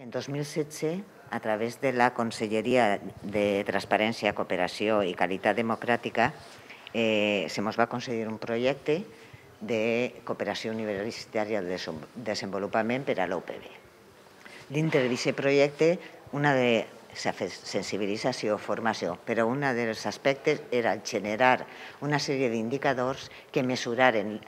En 2016, a través de la Conselleria de Transparència, Cooperació i Qualitat Democràtica, se ens va concedir un projecte de cooperació universitària de desenvolupament per a l'UPB. Dintre d'aquest projecte, una de sensibilització, formació, però un dels aspectes era generar una sèrie d'indicadors que mesuraren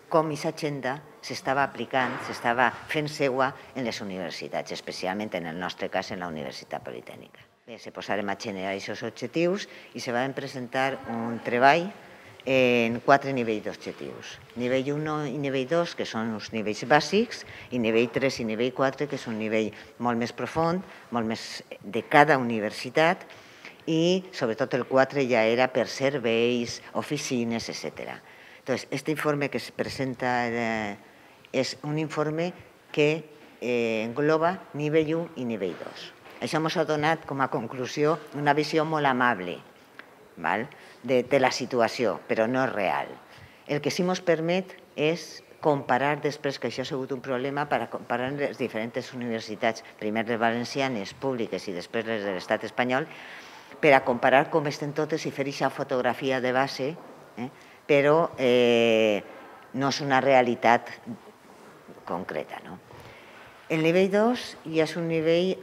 com aquesta agenda s'estava aplicant, s'estava fent seua en les universitats, especialment en el nostre cas en la Universitat Politècnica. Bé, se posaren a generar aquests objectius i se van presentar un treball en 4 nivells d'objectius. Nivell 1 i nivell 2, que són uns nivells bàsics, i nivell 3 i nivell 4, que és un nivell molt més profund, molt més de cada universitat, i sobretot el 4 ja era per serveis, oficines, etc. Entonces, este informe que se presenta es un informe que engloba nivell 1 i nivell 2. Això ens ha donat com a conclusió una visió molt amable de la situació, però no és real. El que sí ens permet és comparar després, que això ha sigut un problema, per comparar les diferents universitats, primer les valencianes públiques i després les de l'estat espanyol, per a comparar com estan totes i fer aquesta fotografia de base, però no és una realitat concreta. El nivell 2 ja és un nivell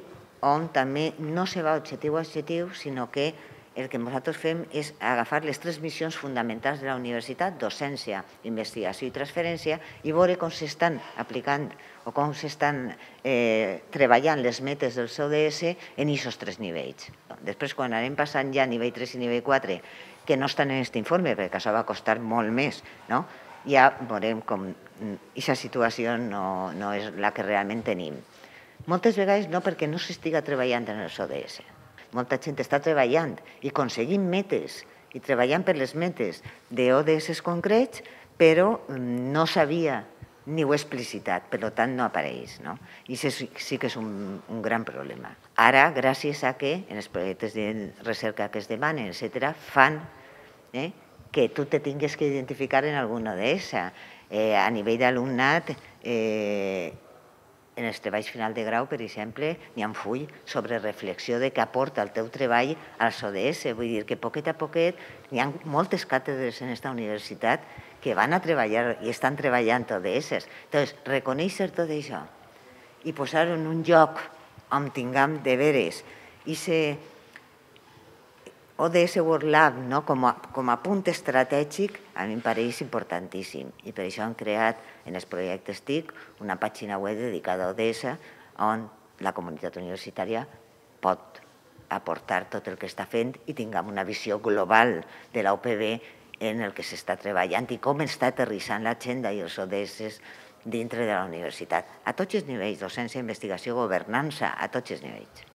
on també no se va objectiu a objectiu, sinó que el que nosaltres fem és agafar les 3 missions fonamentals de la universitat, docència, investigació i transferència, i veure com s'estan aplicant o com s'estan treballant les metes dels ODS en aquests 3 nivells. Després, quan anem passant ja a nivell 3 i nivell 4, que no estan en aquest informe, perquè això va costar molt més, ja veurem com aquesta situació no és la que realment tenim. Moltes vegades no perquè no s'estiga treballant en els ODS. Molta gent està treballant i aconseguint metes i treballant per les metes d'ODS concrets, però no sabia ni ho ha explicitat, per tant no apareix. I sí que és un gran problema. Ara, gràcies a que en els projectes de recerca que es demanen, etc., fan que tu te tingues que identificar en algun ODS. A nivell d'alumnat, en els treballs final de grau, per exemple, n'hi ha un full sobre reflexió de què aporta el teu treball als ODS. Vull dir que poquet a poquet hi ha moltes càtedres en aquesta universitat que van a treballar i estan treballant ODS. Llavors, reconèixer tot això i posar-ho en un lloc on tinguem deberes i ser ODS World Lab com a punt estratègic, a mi em pareix importantíssim. I per això hem creat en els projectes TIC una pàgina web dedicada a ODS on la comunitat universitària pot aportar tot el que està fent i tinguem una visió global de la UPB en el que s'està treballant i com està aterrissant l'agenda i els ODS dintre de la universitat. A tots els nivells, docència, investigació, governança, a tots els nivells.